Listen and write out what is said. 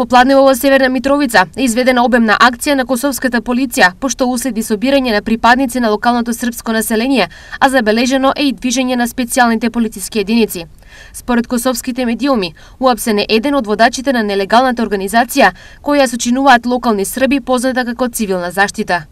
Попладне во Северна Митровица е изведена обемна акција на косовската полиција, пошто уследи собирање на припадници на локалното српско население, а забележено е и движење на специјалните полициски единици. Според косовските медиуми, уапсен е еден од водачите на нелегалната организација, која ја сочинуваат локални срби позната како цивилна заштита.